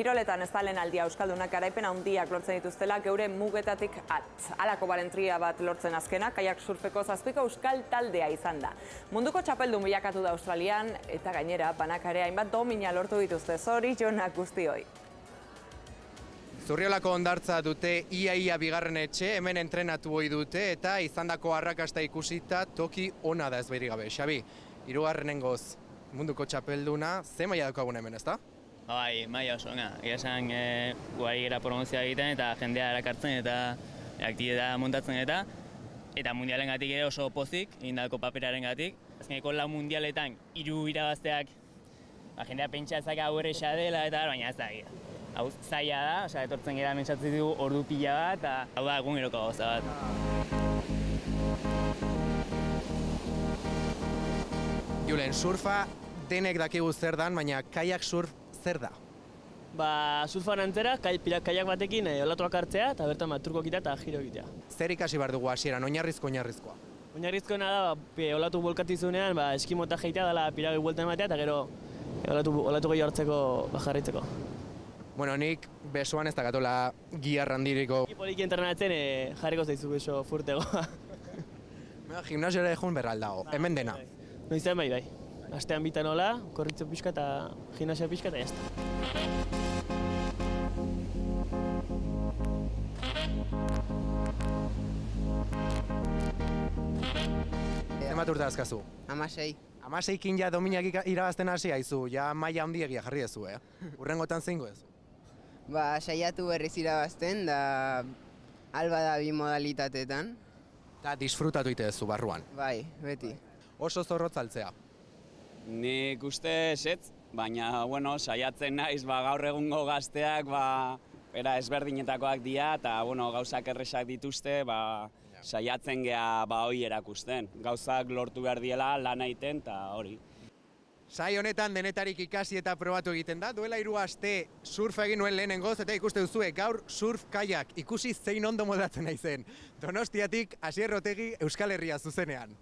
Kiroletan ez da lehen aldia euskaldunak garaipen handiak lortzen dituztela geure mugetatik halako balentria bat lortzen azkena, kaiak surfeko 7 euskal taldea izan da. Munduko txapeldun bilakatu da Australian eta gainera banakare hainbat domina lortu dituzte. Zorionak guztioi. Zurriolako hondartza dute ia bigarren etxe, hemen entrenatu ohi dute eta izandako arrakasta ikusita toki ona da ez behirik gabe. Xabi, hirugarrenengoz munduko txapelduna, ze maila daukagun hemen, ezta? Bai, maila oso ona. Egia esan guari gara promozioa egiten eta jendea erakartzen eta aktibitatea montatzen eta mundialengatik ere oso pozik, egindako paperarengatik. Azkeneko 4 mundialetan 3 irabazteak jendea pentsa ezak hau erresa dela eta baina ez da egia. Hau zaila da, etortzen gara mentsatzen dugu ordu pila bat eta hau da eguneroko gauza bat. Julen, surfa denek dakigu zer dan, baina kaiak surf zer da? Surfan antzera, kaiak batekin olatuak hartzea eta bertan turko egitea eta giro egitea. Zer ikasi behar dugu hasieran, oinarrizkoa? Oinarrizkoena da, olatu bolkatizunean eskimota jeitea dela piragoi bueltan ematea eta gero olatu gehi hartzeko jarraitzeko. Bueno, nik besoan ez dakatola giar handiriko. Poliki entrenatzen jarriko zaizu beso furtegoa. Gimnasiora egun berraldago, hemen dena. Noizean bai. Astean bitan hola, korritzo pixka eta gimnasia pixka eta jazta. Zenbat urte azkazu? 16. 16-kin ja dominak irabazten hasi haizu, ja maila handiegia jarri dezu, Urrengotan zeingo dezu? Saiatu berriz irabazten, da alba da 2 modalitateetan. Eta disfrutatu ite dezu barruan? Bai, beti. Oso zorrotz altzea? Nik uste esetz, baina saiatzen naiz gaur egungo gazteak ezberdinetakoak dira eta gauzak erresak dituzte saiatzen geha hori erakusten. Gauzak lortu behar diela lan egiten eta hori. Sai honetan denetarik ikasi eta probatu egiten da. Duela 3 aste surfa egin nuen lehenengoz eta ikuste duzue gaur surf kaiak ikusi zein ondo modatzen naizen. Donostiatik Asier Otegi Euskal Herria zuzenean.